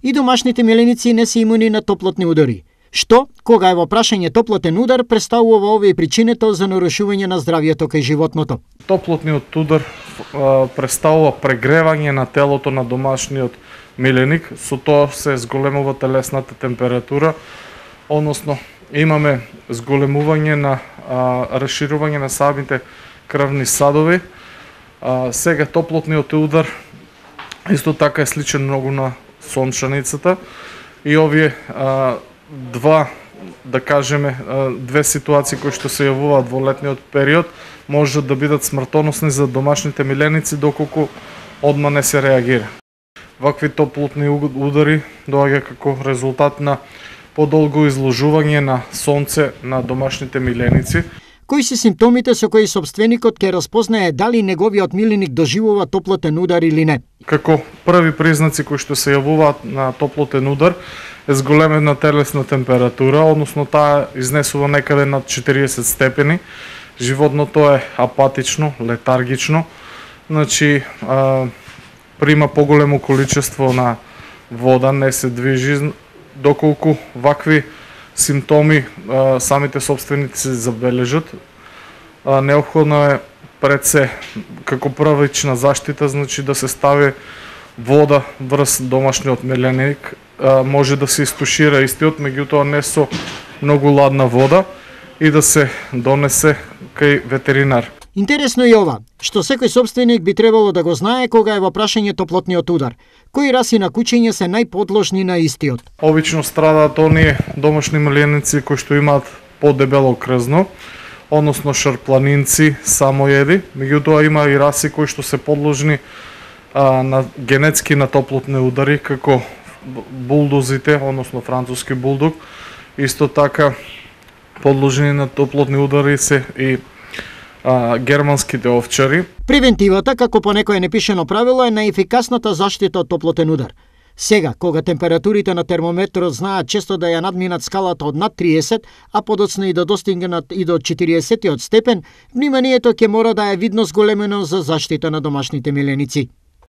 И домашните миленици не се имуни на топлотни удари. Што, кога е во прашање топлотен удар, представува овие причината за нарушување на здравјето кај животното. Топлотниот удар представува прегревање на телото на домашниот миленик, со тоа се зголемува телесната температура, односно имаме зголемување на расширување на самите крвни садови. Сега топлотниот удар исто така е сличен многу на сончаницата и овие две ситуации кои што се јавуваат во летниот период можат да бидат смртоносни за домашните миленици доколку одма не се реагира. Вакви топлотни удари доаѓа како резултат на подолго изложување на сонце на домашните миленици. Кои се симптомите со кои собственикот ќе распознае дали неговиот миленик доживува топлотен удар или не? Како први признаци кои што се јавуваат на топлотен удар е зголемена телесна температура, односно таа изнесува некаде над 40 степени. Животното е апатично, летаргично, значи прима поголемо количество на вода, не се движи, доколку вакви симптоми самите собственици се забележат. Неопходно е пред се како првична заштита, значи да се стави вода врз домашниот миленик, може да се истушира истиот, меѓутоа не со многу ладна вода и да се донесе кај ветеринар. Интересно е ова, што секој собственик би требало да го знае кога е во прашање топлотниот удар. Кои раси на кучиња се најподложни на истиот? Обично страдаат оние домашни миленици кои што имаат подебело крзно, односно шарпланинци, самоеди, меѓутоа има и раси кои што се подложни на генетски на топлотни удари, како булдозите, односно француски булдог, исто така подложени на топлотни удари се и германските овчари. Превентивата, како по некое непишено правило, е најефикасната заштита од топлотен удар. Сега, кога температурите на термометрот знаат често да ја надминат скалата од над 30, а подоцна и да достигнат и до 40 степен, вниманието ќе мора да е видно зголемено за заштита на домашните миленици.